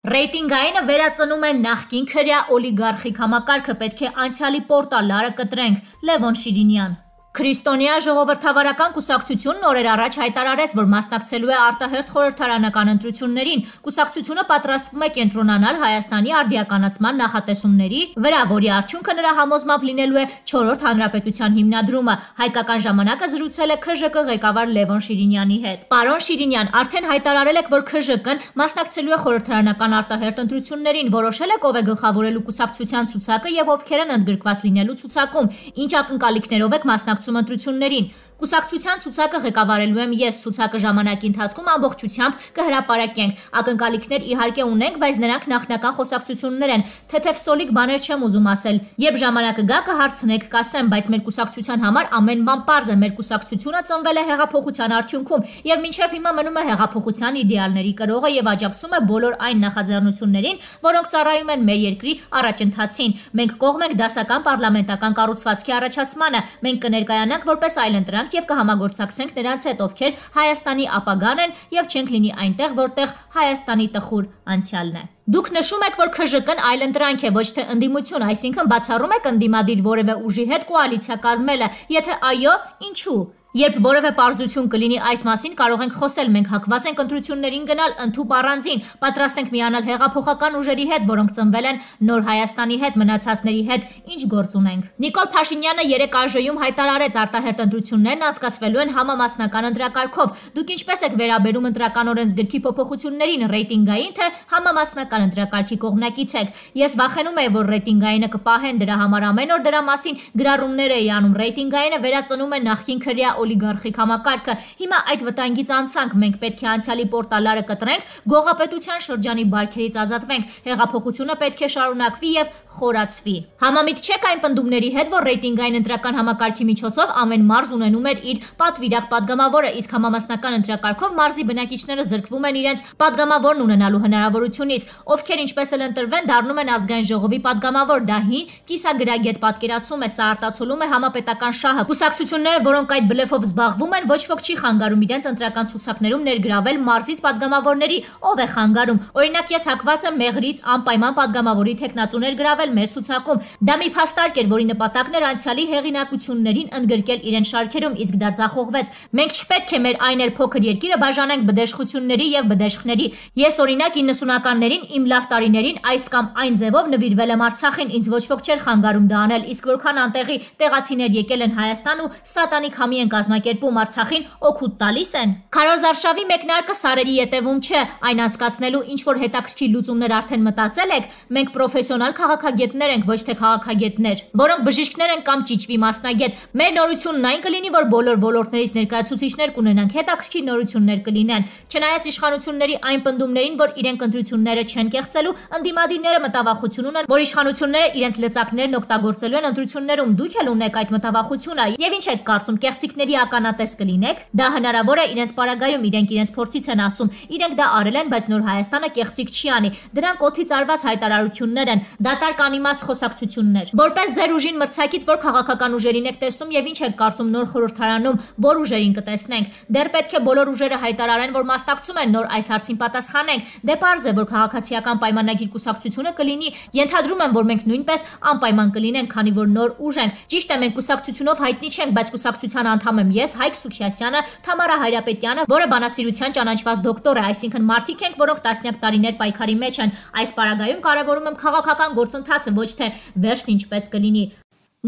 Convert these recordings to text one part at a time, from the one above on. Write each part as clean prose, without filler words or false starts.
Ռեյտինգայինը վերածնում է նախկին քրյա օլիգարխիկ համակարգը, պետք է անցյալի պորտալարը կտրենք, Լևոն Շիրինյան։ Քրիստոնյա ժողովրդավարական կուսակցությունն օրեր առաջ հայտարարեց, որ մասնակցելու է արտահերթ խորհրդարանական ընտրություններին։ Կուսակցությունը պատրաստվում է կենտրոնանալ Հայաստանի արդիականացման նախատեսումների վրա, որի արդյունքը նրա համոզմամբ լինելու է 4-րդ հանրապետության հիմնադրումը։ Հայկական ժամանակը զրուցել է ՔԺԿ ղեկավար Լևոն Շիրինյանի հետ։ Պարոն Շիրինյան, արդեն հայտարարել եք, որ ՔԺԿ-ն մասնակցելու է խորհրդարանական արտահերթ ընտրություններին, որոշել եք ով է գլխավորելու կուսակցության ցուցակը եւ ովքեր են ընդգրկված լինելու ցուցակում, ինչ ակնկալիքներով եք մասնակցում ընտրություններին։ Կուսակցության ցուցակը ղեկավարելու եմ ես, ցուցակը ժամանակի ընթացքում ամբողջությամբ կհրապարակենք։ Ակնկալիքներ իհարկե ունենք, բայց նրանք նախնական խոսակցություններ են, թեթև սոլիկ բաներ չեմ ուզում ասել։ Երբ ժամանակը գա կհարցնեք, կասեմ, բայց մեր կուսակցության համար ամեն բան պարզ է, մեր կուսակցությունը ծնվել է հեղափոխության արդյունքում եւ մինչեւ հիմա մնում է հեղափոխության իդեալների կրողը եւ աջակցում է բոլոր այն նախաձեռնություններին, որոնք ծառայում են մեր երկրի առաջընթացին։ Մենք կողմ ենք դասական պարլամենտական կառուցվածքի առաջացմանը, մենք կներկայանանք որպես այլընտրանք եւ կհամագործակցենք նրանց հետ, ովքեր Հայաստանի ապագան են եւ չենք լինի այնտեղ, որտեղ Հայաստանի տխուր անցյալն է։ Դուք նշում եք, որ ՔԺԿ-ն այլընտրանք է, ոչ թե ընդդիմություն, այսինքն բացառում եք ընդդիմադիր որևէ ուժի հետ կոալիցիա կազմելը, եթե այո, ինչու։ Երբ որևէ պարզություն կլինի այս մասին, կարող ենք խոսել, մենք հակված ենք ընտրություններին գնալ ընդհուպ առանձին, պատրաստ ենք միանալ հեղափոխական ուժերի հետ, որոնք ծնվել են նոր Հայաստանի հետ, մնացածների հետ, ինչ գործ ունենք։ Նիկոլ Փաշինյանը երեկ ԱԺ-ում հայտարարեց, արտահերթ ընտրություններն անցկացվելու են համամասնական ընտրակարգով։ Դուք ինչպես եք վերաբերում ընտրական օրենսգրքի փոփոխություններին, ռեյտինգային թե համամասնական ընտրակարգի կողմնակից եք։ Ես վախենում եմ, որ ռեյտինգայինը կպահեն, դրա համար ամեն օր դրա մասին գրառումներ էի անում։ Ռեյտինգայինը վերածնում է նախկին քրյա օլիգարխիկ համակարգը։ Հիմա այդ վտանգից անցանք, մենք պետք է անցյալի պորտալարը կտրենք, գողապետության շրջանի բարքերից ազատվենք, հեղափոխությունը պետք է շարունակվի եւ խորացվի։ Համամիտ չեք այն պնդումների հետ, որ ռեյտինգային ընտրական համակարգի միջոցով ամեն մարզ ունենում էր իր պատվիրակ падգամավորը, իսկ համամասնական ընտրակարգով մարզի բնակիչները զրկվում են իրենց падգամավորն ունենալու հնարավորությունից, ովքեր ինչպես էլ ընտրվեն, դառնում են ազգային ժողովի падգամավոր, դա հին կիսագրագետ պատկերացում է, սա արտացոլում է համապետական շահը։ Կուսակցությունները, որոնք այդ բլեֆով զբաղվում են, ոչ ոք չի խանգարում իրենց ընտրական ցուցակներում ներգրավել մարզից падգամավորների, ով է խանգարում։ Օրինակ ես հակված եմ մեղրից անպայման падգամավորի թեկնածու ներգրավել մեր ցուցակում։ Դա մի փաստարկ էր, որի նպատակն էր անցյալի հեղինակություններին ընդգրկել իրեն շարքերում, իսկ դա ձախողվեց։ Մենք չպետք է մեր այն էլ փոքր երկիրը բաժանենք բդեշխությունների եւ բդեշխների։ Ես օրինակ 90-ականներին իմ լավ տարիներին այս կամ այն ձևով նվիրվել եմ Արցախին, ինձ ոչ ոք չէր խանգարում դա անել, իսկ որքան անտեղի տեղացիներ եկել են Հայաստան ու սատանիկ համի են կազմակերպում Արցախին, օգուտ տալիս են։ Քարոզարշավի մեկնարկը սարերի ետևում չէ, այն անցկացնելու ինչ որ հետաքրքիր լուծումներ արդեն մտածել եք։ Մենք պրոֆեսիոնալ քաղաքագետներ ենք, ոչ թե քաղաքագետներ, որոնք բժիշկներ են կամ ճիճվի մասնագետ։ Մեր նորությունն այն կլինի, որ բոլոր ոլորտներից ներկայացուցիչներ կունենանք, հետաքրքիր նորություններ կլինեն։ Չնայած իշխանությունների այն պնդումներին, որ իրենք ընտրությունները չեն կեղծելու, ընդդիմադիրները մտավախություն ունեն, որ իշխանությունները իրենց լծակներն օգտագործելու են ընտրություններում։ Դուք էլ ունեք այդ մտավախությունը, եւ ինչ եք կարծում, կեղծիքների ականատես կլինեք։ Դա հնարավոր է իրենց պարագայում, իրենք իրենց փորձից են ասում, իրենք դա արել են, բայց նոր Հայաստանը կեղծիք չի անի։ Դրանք օդից արված հայտարարություններ են, դատարկ անիմաստ խոսակցություններ։ Որպես ձեր ուժին մրցակից, որ քաղաքական ուժերին եք տեսնում եւ ինչ եք կարծում նոր խորհրդարանում, որ ուժերին կտեսնենք։ Դեռ պետք է բոլոր ուժերը հայտարարեն, որ մասնակցում են, նոր այս հարցին պատասխանենք։ Դե պարզ է, որ քաղաքացիական պայմանագիր կուսակցությունը կլինի։ Ենթադրում եմ, որ մենք նույնպես անպայման կլինենք, քանի որ նոր ուժ ենք։ Ճիշտ է, մենք կուսակցությունով հայտնի չենք, բայց կուսակցության անդամ եմ ես, Հայկ Սուքիասյանը, Թամարա Հայրապետյանը, որը բանասիրության ճանաչված դոկտոր է, այսինքն մարդիկ ենք, որոնք տասնյակ տարիներ պայքարի մեջ են։ Այս պարագայում կարևորում եմ քաղաքական գործընթացը, ոչ թե վերջն ինչպես կլինի։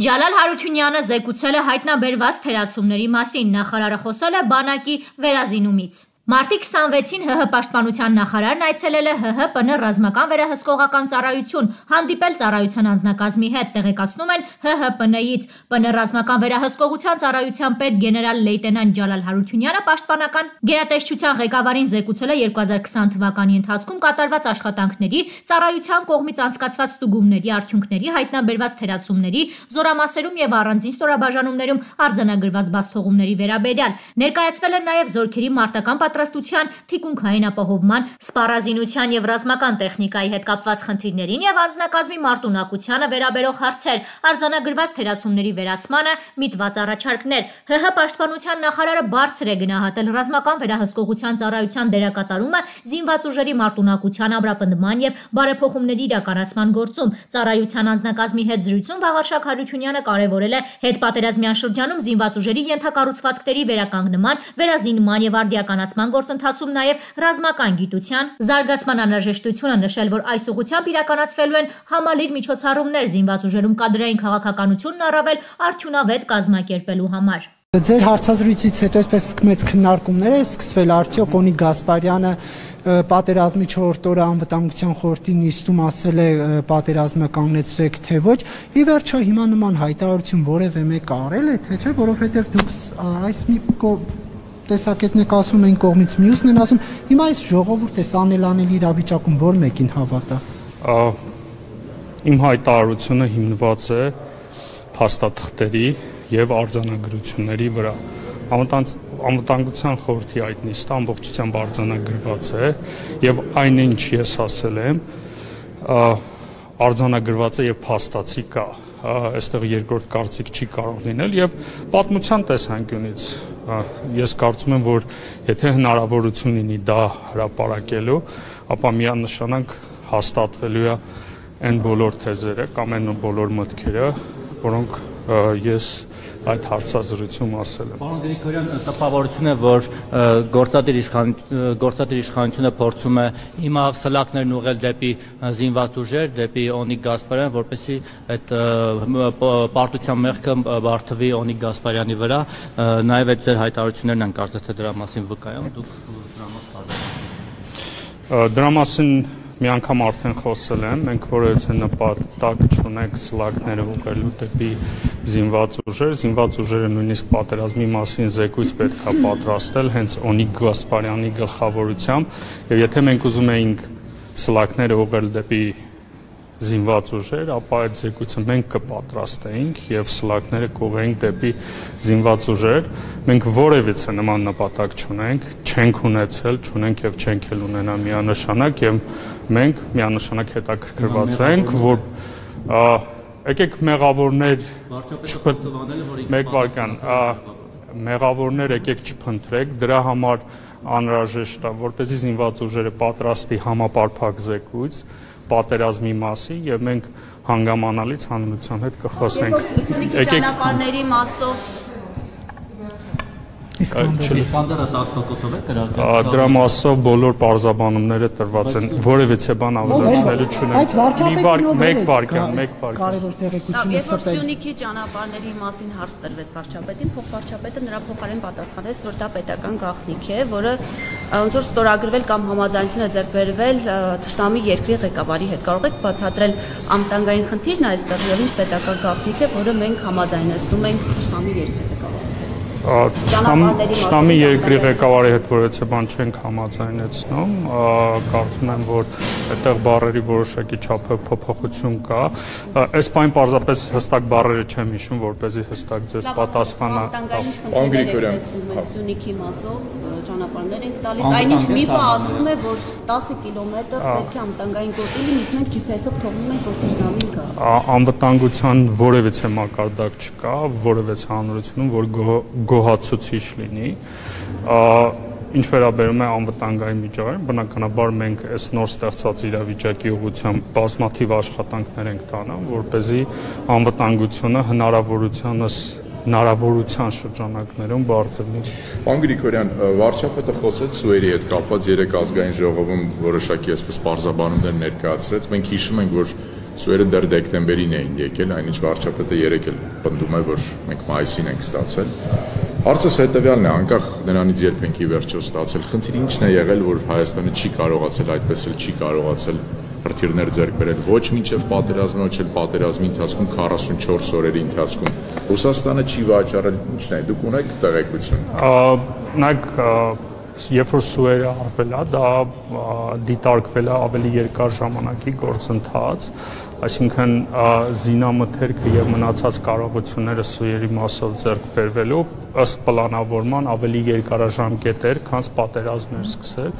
Ջալալ Հարությունյանը զեկուցել է հայտնաբերված թերացումների մասին, նախարարը խոսել է բանակի վերազինումից։ Մարտի 26-ին ՀՀ պաշտպանության նախարարն այցելել է ՀՀ ՊՆ ռազմական վերահսկողական ծառայություն, հանդիպել ծառայության անձնակազմի հետ, տեղեկացնում են ՀՀ ՊՆ-ից։ ՊՆ ռազմական վերահսկողության ծառայության պետ գեներալ լեյտենանտ Ջալալ Հարությունյանը պաշտպանական գերատեսչության ղեկավարին զեկուցել է 2020 թվականի ընթացքում կատարված աշխատանքների, ծառայության կողմից անցկացված ստուգումների արդյունքների, հայտնաբերված թերացումների, զորամասերում եւ առանձին ստորաբաժանումներում արձանագրված բացթողումների վերաբերյալ։ Ներկայացվել է նաեւ զորքերի մարտական պատրաստության, թիկունքային ապահովման, սպառազինության եւ ռազմական տեխնիկայի հետ կապված խնդիրներին եւ անձնակազմի մարտունակությանը վերաբերող հարցեր, արձանագրված թերացումների վերացմանը միտված առաջարկներ։ ՀՀ պաշտպանության նախարարը բարձր է գնահատել ռազմական վերահսկողության ծառայության դերակատարումը զինված ուժերի մարտունակության, ամրապնդման եւ բարեփոխումների իրականացման գործում։ Ծառայության անձնակազմի հետ զրույցում Վաղարշակ Հարությունյանը կարևորել է հետպատերազմյան շրջանում զինված ուժերի ենթակառուցվածքների վերականգնման, վերազինման եւ արդիականացման գործընթացում նաեւ ռազմական գիտության զարգացման անհրաժեշտությունը, նշել, որ այս ուղղությամբ իրականացվելու են համալիր միջոցառումներ զինված ուժերում կադրային քաղաքականությունն առավել արդյունավետ կազմակերպելու համար։ Ձեր հարցազրույցից հետո այսպես մեծ քննարկումներ է սկսվել, արդյոք Օնիկ Գասպարյանը պատերազմի 4-րդ օրը անվտանգության խորհրդի նիստում ասել է պատերազմը կանգնեցրեք, թե ոչ։ Ի վերջո հիմա նման հայտարարություն որևէ մեկը արել է, թե չէ, որովհետև դուք այս մի տեսակետն եք ասում, այն կողմից մյուսն են ասում, հիմա այս ժողովուրդը անելանելի իրավիճակում որ մեկին հավատա։ Իմ հայտարարությունը հիմնված է փաստաթղթերի եւ արձանագրությունների վրա։ Անվտանգության խորհրդի այդ նիստը ամբողջությամբ արձանագրված է եւ այն ինչ ես ասել եմ արձանագրված է եւ փաստացի կա։ Այստեղ երկրորդ կարծիք չի կարող լինել եւ պատմության տեսանկյունից ես կարծում եմ, որ եթե հնարավորություն լինի դա հրապարակելու, ապա միանշանակ հաստատվելու է այն բոլոր թեզերը կամ այն բոլոր մտքերը, որոնք ես այդ հարցազրույցում ասել եմ։ Պարոն Գրիգորյան, տպավորություն է, որ գործադիր իշխանությունը փորձում է հիմա սլակներն ուղղել դեպի զինված ուժեր, դեպի Օնիկ Գասպարյան, որպեսզի այդ պարտության մեղքը բարթվի Օնիկ Գասպարյանի վրա, նաև այդ ձեր հայտարարություններն են կարծես թե դրա մասին վկայում, դուք դրա մասին մի անգամ արդեն խոսել եմ, մենք որևէ նպատակ չունենք սլակները ուղղելու դեպի զինված ուժերը նույնիսկ պատերազմի մասին զեկույց պետք է պատրաստել հենց Օնիկ Գասպարյանի գլխավորությամբ, եւ եթե մենք ուզում էինք սլակները ուղղել դեպի զինված ուժեր, ապա այդ զեկույցը մենք կպատրաստեինք եւ սլակները կուղղեինք դեպի զինված ուժեր։ Մենք որևիցե նման նպատակ չունենք, չենք ունեցել, չունենք եւ չենք էլ ունենա միանշանակ եւ մենք միանշանակ հետաքրքրված ենք, որ եկեք մեղավորներ մեկ վարքան մեղավորներ եկեք չփնտրեք, դրա համար անհրաժեշտ է, որպեսզի զինված ուժերը պատրաստի համապարփակ զեկույց պատերազմի մասին եւ մենք հանգամանալից հանրության հետ կխոսենք։ Ճանապարհների մասով Իսկանդերը 10%-ով է կրակել։ Դրա մասով բոլոր պարզաբանումները տրված են, որևիցե բան ավելացնելու չունենք։ Մեկ վարքան։ Կարևոր տեղեկությունը Երբ որ Սյունիքի ճանապարհների մասին հարց տրվեց վարչապետին, փոխվարչապետը նրա փոխարեն պատասխանեց, որ դա պետական գաղտնիք է, որը ոնց որ ստորագրվել կամ համաձայնություն է ձեռք բերվել թշնամի երկրի ղեկավարի հետ։ Կարող եք բացատրել անվտանգային խնդիրն այստեղ եւ ինչ պետական գաղտնիք է, որը մենք համաձայնեցնում ենք թշնամի երկրի Թշնամի երկրի ղեկավարի հետ որևէ բան չենք համաձայնեցնում, կարծում եմ, որ այդտեղ բառերի որոշակի չափով փոփոխություն կա։ Այս բան պարզապես հստակ բառերը չեմ հիշում, որպեսզի հստակ ձեզ պատասխանա։ Պարոն Գրիգորյան, Սյունիքի մասով ճանապարհներ ենք տալիս, այնինչ միֆը ասում է, որ 10 կիլոմետր պետք է անվտանգային գոտի լինի, իսկ մենք GPS-ով թողնում ենք, որ թշնամին գա։ Անվտանգության որևէ մակարդակ չկա, որևէ հանրությունում, որ գոհացուցիչ լինի, ինչ վերաբերում է անվտանգային միջավայրին, բնականաբար մենք այս նոր ստեղծած իրավիճակի ուղղությամբ բազմաթիվ աշխատանքներ ենք տանում, որպեսզի անվտանգությունը հնարավորության շրջանակներում բարձրացնի։ Պարոն Գրիգորյան, վարչապետը խոսեց Սուերի հետ կապված 3 ազգային ժողովում որոշակի այսպես պարզաբանումներ ներկայացրեց։ Մենք հիշում ենք, որ Սուերը դեռ դեկտեմբերին էին եկել, այնինչ վարչապետը երեկ էլ պնդում է, որ մենք մայիսին ենք ստացել։ Հարցս հետևյալն է, անկախ նրանից երբ ենք ի վերջո ստացել, խնդիրը ինչն է եղել, որ Հայաստանը չի կարողացել, այդպես էլ չի կարողացել հրթիռներ ձեռք բերել ոչ մինչև պատերազմը, ոչ էլ պատերազմի ընթացքում 44 օրերի ընթացքում։ Ռուսաստանը չի վաճառել, ինչն է, դուք ունեք տեղեկություն։ Նայեք, երբ որ սուերը արվել է, դա դիտարկվել է ավելի երկար ժամանակի գործընթաց, այսինքն զինամթերքը եւ մնացած կարողությունները սուերի մասով ձեռք բերվելու ըստ պլանավորման ավելի երկարաժամկետ էր, քան պատերազմներ սկսել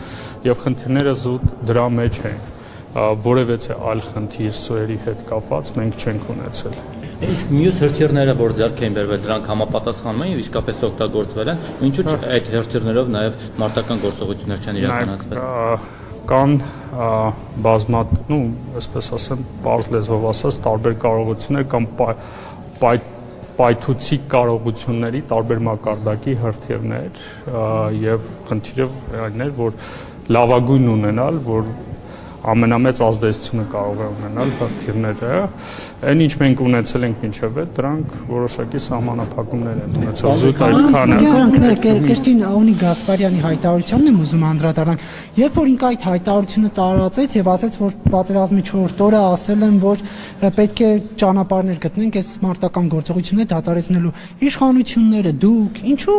եւ խնդիրները զուտ դրա մեջ են։ Որևէ այլ խնդիր սուերի հետ կապված մենք չենք ունեցել։ Իսկ մյուս հրթիռները, որ ձեռք էին բերվել, դրանք համապատասխանում են եւ իսկապես օգտագործվել են, ինչու՞ այդ հրթիռներով նաեւ մարտական գործողություններ չեն իրականացվել։ Կան այսպես ասեմ, բարձ լեզվով ասած, տարբեր կարողություններ կամ պայթուցիկ կարողությունների տարբեր մակարդակի հրթիռներ եւ խնդիրը այն էր, որ լավագույն ունենալ, որ ամենամեծ ազդեցությունը կարող է ունենալ հրթիռները, այն ինչ մենք ունեցել ենք մինչև այդ, դրանք որոշակի սահմանափակումներ են ունեցել։ Զուտ այդքանը։ Կրկին Աունի Գասպարյանի հայտարարությանն եմ ուզում անդրադառնալ, երբ որ ինքը այդ հայտարարությունը տարածեց եւ ասաց, որ պատերազմի 4-րդ օրը ասել են, որ պետք է ճանապարհներ գտնենք այս մարտական գործողությունները դադարեցնելու, իշխանությունները դուք ինչու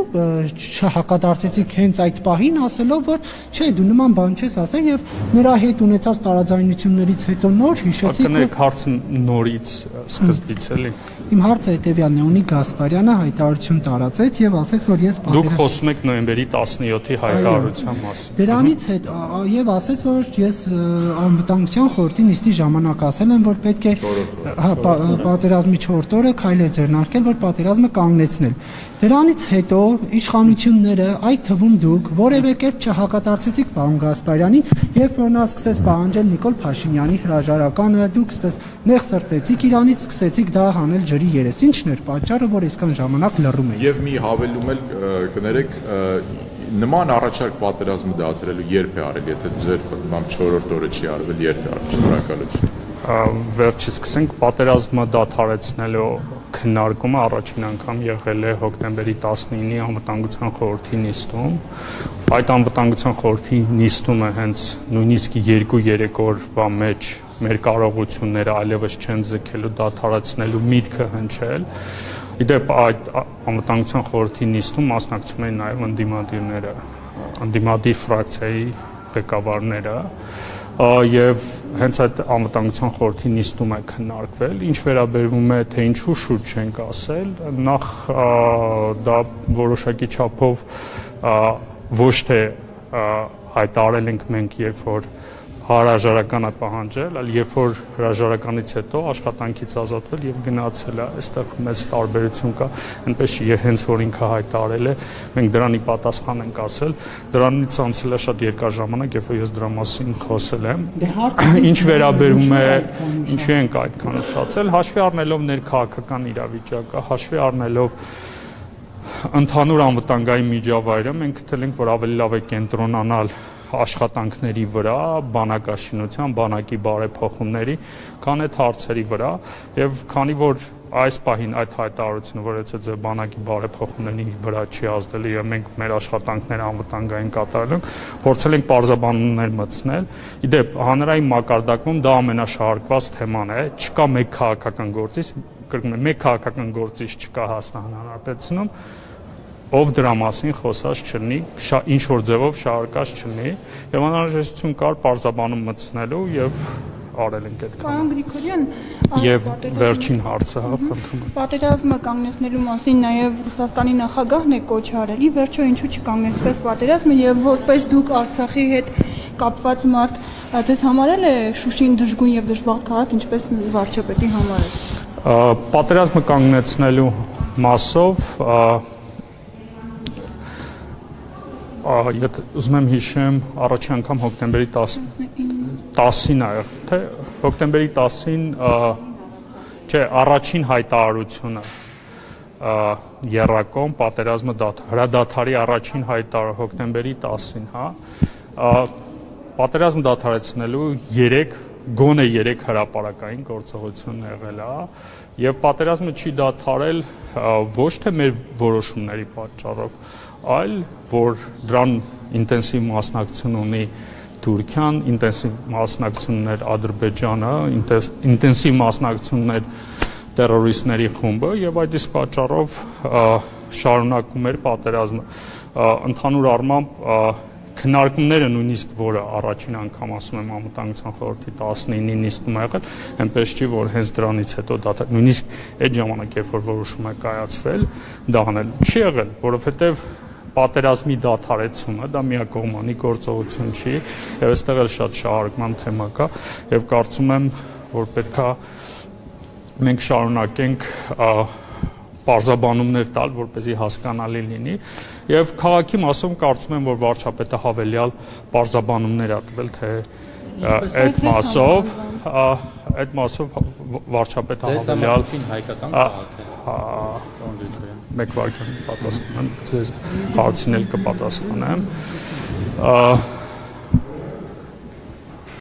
չհակադարձեցիք հենց այդ պահին, ասելով, որ չէ, դու նման բան չես ասել եւ նրա հետ ունեցած տարաձայնություններից հետո նոր հիշեցիք, որ հարցը նորից սկզբից էլի։ Իմ հարցը հետեւյալն է, Ունի Գասպարյանը հայտարարություն տարածեց եւ ասաց, որ ես Դուք խոսում եք նոյեմբերի 17-ի հայտարարության մասին։ Դրանից հետո եւ ասաց, որ ես անվտանգության խորհրդի նիստի ժամանակ ասել եմ, որ պետք է պատերազմի 4-րդ օրը քայլեր ձեռնարկել, որ պատերազմը կանգնեցնել։ Դրանից հետո իշխանությունները, այդ թվում դուք, որևէ կերպ չհակադարձեցիք պարոն Գասպարյանին, երբ որ նա սկսեց պահանջել Նիկոլ Փաշինյանի հրաժարականը, դուք այսպես նեղ սրտեցիք իրանից, սկսեցիք դա հանել ջրի երես։ Ինչն էր պատճառը, որ այսքան ժամանակ լռում եք։ Եվ մի հավելում էլ կներեք, նման առաջարկ պատերազմը դադարելու երբ է արել, եթե ձեր նման 4-րդ օրը չի արվել, երբ է արվել։ Շնորհակալություն։ Վերջից սկսենք, պատերազմը դադարեցնելու քննարկումը առաջին անգամ եղել է հոկտեմբերի 19-ի անվտանգության խորհրդի նիստում։ Այդ անվտանգության խորհրդի նիստումը հենց նույնիսկ 2-3 օրվա մեջ մեր կարողությունները այլևս չեն ձգելու դադարեցնելու միտքը հնչել։ Իդեպ այդ անվտանգության խորհրդի նիստում մասնակցում էին նաև ընդդիմադիրները, ընդդիմադիր ֆրակցիայի ղեկավարները եւ հենց այդ անվտանգության խորհրդի նիստում է քննարկվել, ինչ վերաբերվում է թե ինչու շուտ չենք ասել, նախ դա որոշակի չափով ոչ թե հայտարարել ենք մենք, երբ որ հրաժարական է պահանջել, այլ երբ որ հրաժարականից հետո աշխատանքից ազատվել եւ գնացել է, այստեղ մեծ տարբերություն կա, այնպես չի, հենց որ ինքը հայտարարել է, մենք դրանի պատասխան ենք ասել, դրանից անցել է շատ երկար ժամանակ, երբ որ ես դրա մասին խոսել եմ։ Ինչ վերաբերում է, ինչու ենք այդքան ուշացել, հաշվի առնելով ներքաղաքական իրավիճակը, հաշվի առնելով ընդհանուր անվտանգային միջավայրը, մենք գտել ենք, որ ավելի լավ է կենտրոնանալ աշխատանքների վրա, բանակաշինության, բանակի բարեփոխումների, քան այդ հարցերի վրա, եւ քանի որ այս պահին այդ հայտարարությունը, որ եթե ձեր բանակի բարեփոխումների վրա չի ազդել եւ մենք մեր աշխատանքները անվտանգային կատարել ենք, փորձել ենք պարզաբանումներ մտցնել։ Իդեպ հանրային մակարդակում դա ամենաշահարկված թեման է, չկա մեկ քաղաքական գործիչ, կրկնում եմ, մեկ քաղաքական գործիչ չկա Հայաստան Հանրապետությունում, ով դրա մասին խոսած չլինի, ինչ որ ձևով շահարկած չլինի, եւ անհրաժեշտություն կար պարզաբանում մտցնելու եւ արել ենք այդ Պարոն Գրիգորյան, եւ վերջին հարցը, խնդրում եմ։ Պատերազմը կանգնեցնելու մասին նաեւ Ռուսաստանի նախագահն է կոչ արել, ի վերջո ինչու չկանգնեցվեց պատերազմը եւ որպես դուք Արցախի հետ կապված մարդ, ձեզ համարել է Շուշին դժգույն եւ դժբախտ քաղաք, ինչպես վարչապետի համար է։ Պատերազմը կանգնեցնելու մասով եթե ուզում եմ հիշեմ, առաջին անգամ հոկտեմբերի 10-ին է, թե հոկտեմբերի 10-ին, չէ, առաջին հայտարարությունը եռակոմ պատերազմը հրադադարի առաջին հայտարարը հոկտեմբերի 10-ին, հա, պատերազմը դադարեցնելու գոնե 3 հրապարակային գործողություն եղել է, եւ պատերազմը չի դադարել ոչ թե մեր որոշումների պատճառով, այլ որ դրան ինտենսիվ մասնակցություն ունի Թուրքիան, ինտենսիվ մասնակցություններ Ադրբեջանը, ինտենսիվ մասնակցություններ տերորիստների խումբը եւ այդ իսկ պատճառով շարունակում էր պատերազմը։ Ընդհանուր առմամբ քննարկումները նույնիսկ որը առաջին անգամ ասում եմ անվտանգության խորհրդի 19-ին նիստում ա եղել, այնպես չի որ հենց դրանից հետո դա նույնիսկ այդ ժամանակ երբ որ որոշում է կայացվել, դա անել չի եղել, որովհետև պատերազմի դադարեցումը դա միակողմանի գործողություն չի, եւ այստեղ էլ շատ շահարկման թեմա կա, եւ կարծում եմ, որ պետքա մենք շարունակենք պարզաբանումներ տալ, որպեսզի հասկանալի լինի, եւ քաղաքի մասում կարծում եմ, որ վարչապետը հավելյալ պարզաբանումներ ա տվել, թե այդ մասով վարչապետը հավելյալ հայկական քաղաք է։ Մեկ վարքյան պատասխանեմ, ձեզ հարցին էլ կպատասխանեմ։